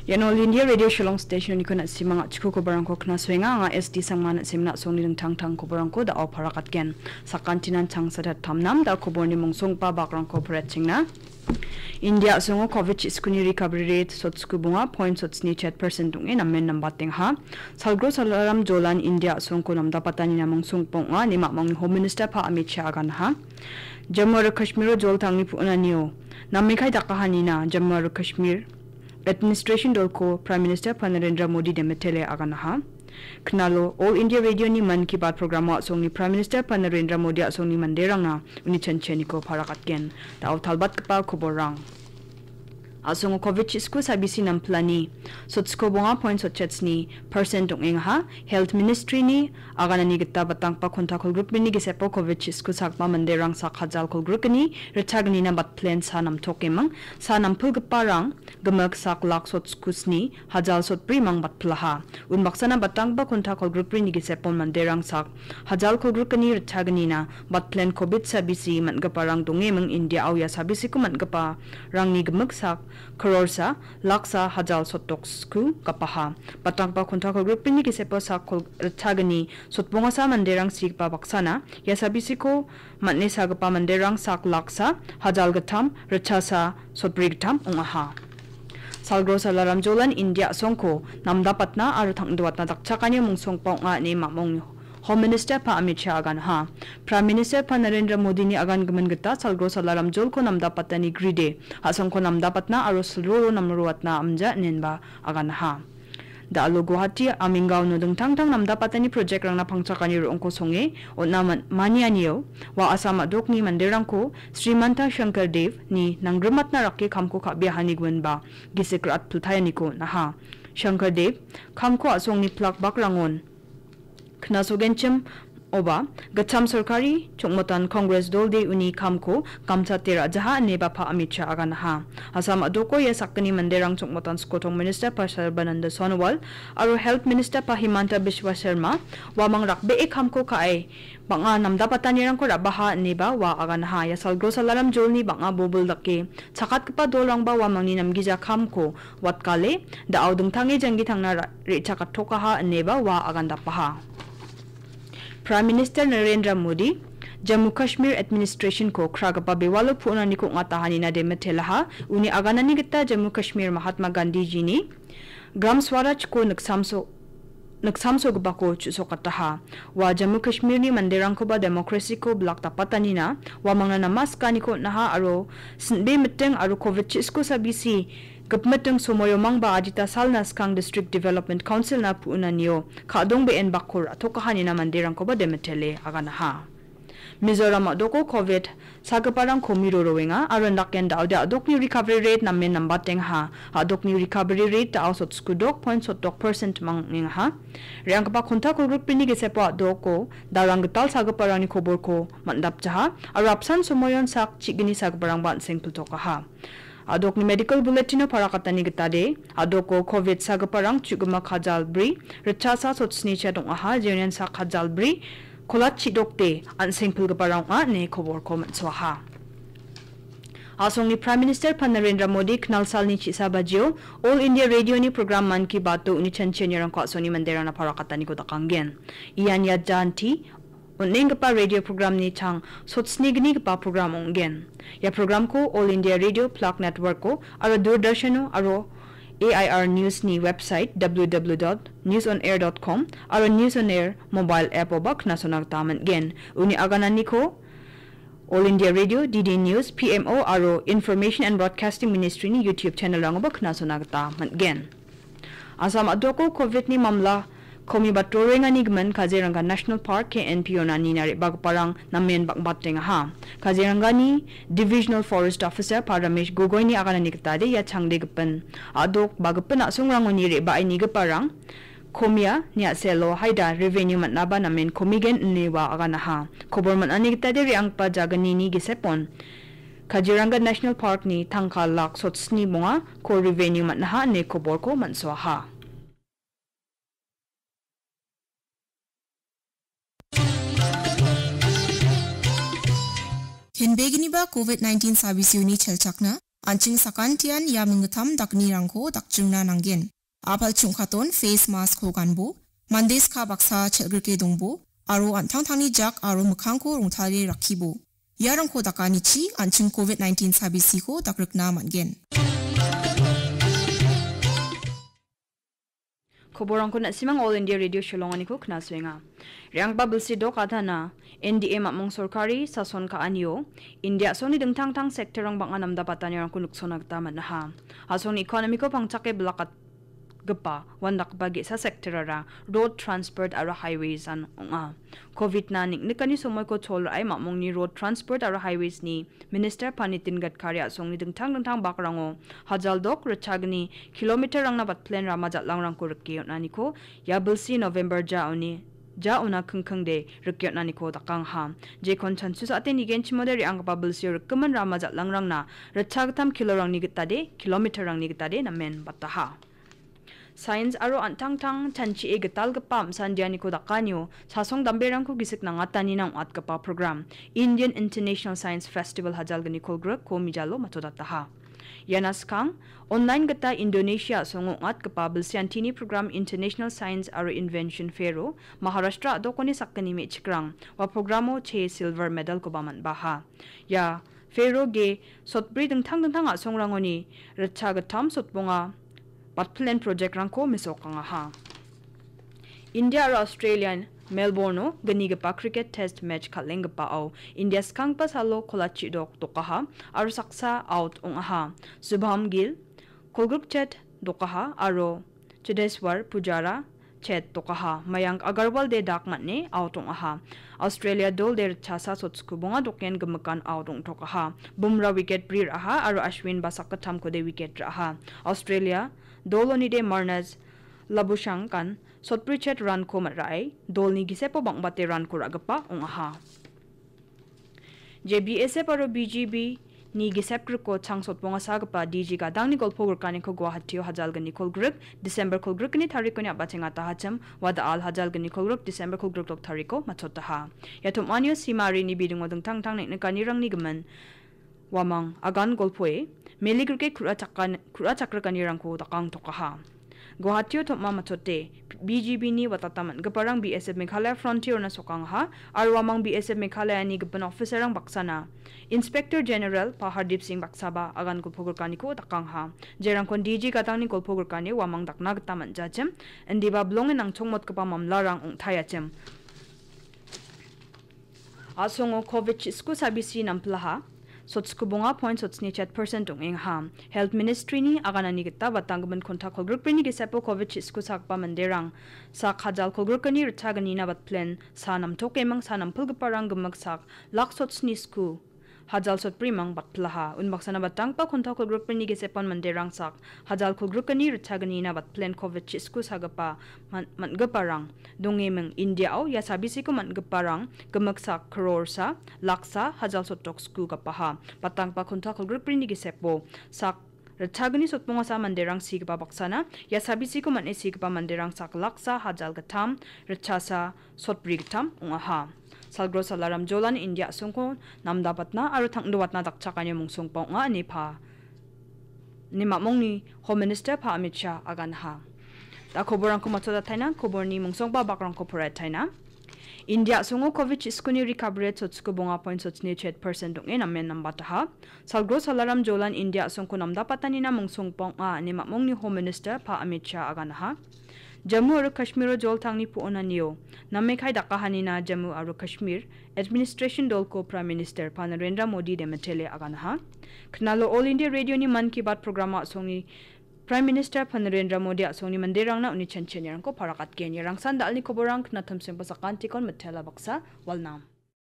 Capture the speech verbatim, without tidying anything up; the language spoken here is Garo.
Ian All India Radio Shillong Station-oniko na·simang a·chiko koborangko knasoenga. Anga S D Sangma na·simna a·songni dingtang tang koborangko da·o parakatgen. Sakantinan changsatat tamnam da koborni mongsongba bakrangko paretchengna. India a·songo covid chiskuni recovery rate sotsku bonga point sotsni chet percent ong·e namen nambatengaha. Salgro Salaram Jolan India a·songko namdapatanina mongsongba ong·a ine mamongni Home Minister Pa Amit Shah aganaha. Jammu aro Kashmiro jol tangni pu·onanio namekai dakahanina Jammu aro Kashmir Administration dolko Prime Minister Pa Narendra Modi demetele aganaha. Knalo All India Radio-ni Mann Ki Baat programo a·songni Prime Minister Pa Narendra Modi a·songni manderangna uni chanchianiko parakatgen. Da·o talbatgipa koborrang. A·songo covid chisku sabisi nampilani sotsko bonga point sotchetsni percent ong·engaha. Health Ministry-ni aganani gita batangpa konta kolgrikbrini gisepo covid chisku sagma manderang sak hajal kolgrikgni ritchagnina batplen sa namtokeming. Sa nampilgiparang gimik sak lak sotskusni hajal sotbrimang batpilaha. Unbaksana batangba konta kolgrikbrini gisepon manderang sak hajal kolgrikgni ritchagnina batplen covid sabisi man·giparang dongeming India-o ia sabisiko man·giparangni gimik sak krorsa laksa hajal sotdoksku gapaha. Batangba konta kolgrikbrini gisepo sak kol-, ritchagni sotbongasa manderang sigipa baksana ia sabisiko man·e sagipa manderang sak laksa hajal gittam ritchasa sotbri gittam ong·aha. Salgro Salaram Jolan India a·songko namdapatna aro tangdoatna dakchakani mongsongba ong·a ine mamong Home Minister Pa Amit Shah aganaha. Prime Minister Pa Narendra Modini agan gimin gita Salgro Salaram Jolko namdapatani gride, a·songko namdapatna aro silroro namroatna amja inenba aganaha. Da·alo Guwahati, Aminggaono dingtang tang namdapatani project-rangna pangchakani ro·ongko songe on·a man-, manianio, ua Assam a·dokni manderangko Srimanta Shankar Dev-ni nanggrimatna rake kamko ka·biahani giminba gisik rat-, rat-, niko on·aha. Shankar Dev kamko a·songni plak bakrangon knasogenchim oba gittam sorkari chongmotan Congress dolde uni kamko gamchate ra·jaha ineba Pa Amit Shah aganaha. Assam a·doko ia sakgni manderang chongmotan skotong minister Pa Sarbananda Sonowal aro health minister Pa Himanta Biswa Sarma uamang rakbee kamko ka·e bang·a namdapatanirangko ra·baha ineba ua aganaha. Ia Salgro Salaram Jolni bang·a bobil dake chakatgipa dolrangba uamangni namgija kamko watkale, da·o dingtange janggi tangna ra-, re·chakatokaha ineba ua agandapaha. Prime Minister Narendra Modi Jammu Kashmir Administration-ko kragipa bewalo pu·onaniko ong·atahanina demetelaha. Uni aganani gita Jammu Kashmir Mahatma Gandhiji-ni Gram Swaraj-ko niksamso-, niksamsogipako chu·sokataha. Ua Jammu Kashmirni manderangkoba democracy-ko bilak dapatanina uamangna namaskaniko on·aha aro sin·be miting aro covid chisku sabisi gipmiting somoio mangba adita salna skang District Development Council-na pu·onanio ka·dongbe·en bakko ra·tokahanina manderangkoba demetele aganaha. Mizoram a·doko covid sagiparang komiro roenga aro indaken da·ode a·dokni recovery rate namen nambatengaha. A·dokni recovery rate da·o sotskudok point sotdok percent mangningaha. Re·anggipa konta kolgrikbrini gisepo a·doko darang gital sagiparangni koborko man·dapjaha aro apsan somoion sak chigni sagiparangba an·seng piltokaha. A·dokni medical bulletin-o parakatani gitade, a·doko covid sagiparang chu·gimak hajal bri, ritchasa sotsni chet ong·aha, jeonian sak hajal bri, kolat chidokde an·seng pilgiparang ong·a ine koborko man·soaha. A·songni Prime Minister Pa Narendra Modi knalsalni chisa bajio All India Radio-ni program Mann Ki Baat-o uni chanchianirangko a·songni manderangna parakataniko dakanggen. Ian ia janti on·enggipa radio programni chang sotsnignigipa program ong·gen. Ia programko All India Radio Plak Network-o aro Doordarshan-o aro A I R News-ni website W W W dot news on air dot com aro News on Air mobile app-oba knasona gita man·gen. Uni agananiko All India Radio, D D News, P M O aro Information and Broadcasting Ministry-ni YouTube channel-rangoba knasona gita man·gen. Assam a·doko covid-ni mamla komibato roengani gimin Kaziranga National Park, K N P-ona nina re·bagiparang namen bang·batengaha. Kazirangani Divisional Forest Officer Pa Ramesh Gogoi-ni aganani gitade ia changde gipin a·dok ba gipin a·songrangoni re·bae nigiparang komia, niaselo haida revenue man·aba namen komigen ine ua aganaha. Kobor man·ani gitade re·anggipa jagnini gisepon Kaziranga National Park-ni tangka lak sotsni bonga ko revenue man·aha ine koborko man·soaha. Kenbeginiba covid nineteen sabisiuni chelchakna, An·ching sakantian ia minggittam dakgnirangko dakjingna nanggen. A·pal chungkaton face mask-ko ganbo, mande ska baksa chel·grike dongbo, aro an·tangtangni jak aro mikkangko rongtale rakkibo. Iarangko dakanichi an·ching covid nineteen sabisiko dakrikna man·gen. Koborangko na·simang All India Radio Shillonganiko knasoenga. Re·anggipa bilsi dok adana, N D A mamung sorkari sason ka·anio, India a·songni dingtang-tang sektorrang bang·a namdabatanirangko niksona gita man·aha. A·songni ekonomiko pangchake bilakatgipa, uandakgipa ge·sa sektorara road transport aro highways-an ong·a. Covid-na neng·nikani somoiko chol ra·e mamungni road transport aro highways-ni Minister Panitin Gadkari a·songni dingtang dingtang bakrango hajal dok ritchagni kilometer-rangna batplen rama jal·angrangko rike on·aniko ia bilsi November ja oni, ja ona kingkingde rike on·aniko dakangaha. Jekon chansu sa·ate nigenchimode re·anggipa bilsio rikgimin rama jal·angrangna ritchagittam kilorangni gitade, kilometer-rangni gitade namen bataha. Sains aro an·tangtang chanchie gitalgipa am·sandianiko dakanio sasong damberangko gisik nangatanina ong·atgipa program Indian International Science Festival hajalgni kolgrikko mijalo matodataha. Iana skang, online gita Indonesia a·songo ong·atgipa bilsiantini program International Science aro Invention Fair-o Maharashtra a·dokoni sakgni me·chikrang ua programo che silver medal-koba man·baha. Ia Fair-o ge sotbri dingtang dingtang a·songrangoni ritchagittam sotbonga batplen project-rangko mesokangaha. India aro Australia Melbourne-o gnigipa cricket test match kal·enggipao India skanggipa salo kolachi dok dokaha aro saksa out ong·aha. Subham Gill, kolgrik chet dokaha aro Cheteshwar Pujara chet dokaha. Mayank Agarwal de dak man·e out ong·aha. Australia dol de ritchasa sotskubonga doken gimikan out ong·tokaha. Bumra wicket bri ra·aha aro Ashwin ba sakgittamko de wicket ra·aha. Australia doloni de Marnus Labuschagne sotbri chet run-ko man·rae dolni gisepo bang·bate run-ko ra·gipa ong·aha. Je B S F aro B G B ni gisep griko chang sotbonga sagipa D G gadangni golpo grikaniko Guwahati-o hajalgni kolgrik, December kolgrikni tarikoni a·bachengatahachim, wadal hajalgni kolgrik, December kolgrik dok tariko matchotaha. Ia tom·anio simarini bidingo dingtang dingtang neng·nikanirangni gimin uamang agan golpoe, meligrike ku·ra chakkan-, ku·ra chakrikanirangko dakangtokaha. Guwahati-o tom·a matchote, B G B-ni watata man·giparang B S F Meghalaya Frontier-ona sokangaha, aro uamang B S F Meghalaya-ni gipin officer-rang baksana Inspector General Pahardip Singh baksaba agan golpo grikaniko dakangaha. Jerangkon D G gadangni golpo grikani uamang dakna gita man·jachim, indiba bilonge nangchongmotgipa mamlarang ong·taiachim. A·songo covid chisku sabisi nampilaha. Sotsku bonga point sotsni chet percent ong·engaha. Health Ministry-ni aganani gita batanggimin kontak kolgrikbrini gisepo covid chisku sakgipa manderang sak hajal kolgrikani ritchagnina batplen sa namtokeming sa nampilgiparang gimik sak lak sotsni sku hajal sotbrimang batpilaha. Unbaksana batanggipa kontak kolgrikbrini gisepan manderang sak hajal kolgrikani ritchagnina batplen covid chisku sagipa man-, man·giparang dongeming. India-o ia sabisiko man·giparang gimik sak krorsa, laksa, hajal sotok sku gapaha. Batanggipa kontak kolgrikbrini gisepo sak ritchagni sotbongasa manderang sigipa baksana, ia sabisiko man·e sigipa manderang sak laksa, hajal gittam, ritchasa, sotbri gittam ong·aha. Salgro Salaram Jolan India a·songko namdapatna aro tangdowatna dakchakani mungsongba ong·a ine pa, ine mamongni Home Minister Pa Amit Shah aganaha. Da koborangko matchotataina, koborni mungsongba bakrangko poraiataina. India a·songo covid chiskuni recovery rate sotsku bonga point sotsni chet percent ong·e namen nambataha. Salgro Salaram Jolan India a·songko namdapatanina mungsongba ong·a ine mamongni Home Minister Pa Amit Shah aganaha. Jammu aro Kashmiro joltangni po·onanio namekai dakahanina Jammu aro Kashmir Administration dolko Prime Minister Pa Narendra Modi demitele aganaha. Knalo All India Radio-ni Mann Ki Baat programo a·songni Prime Minister Pa Narendra Modi a·songni manderangna uni chanchianirangko parakatgen. Ia rangsan da·alni koborang knatimsengba sakantikon mitela baksa walnam.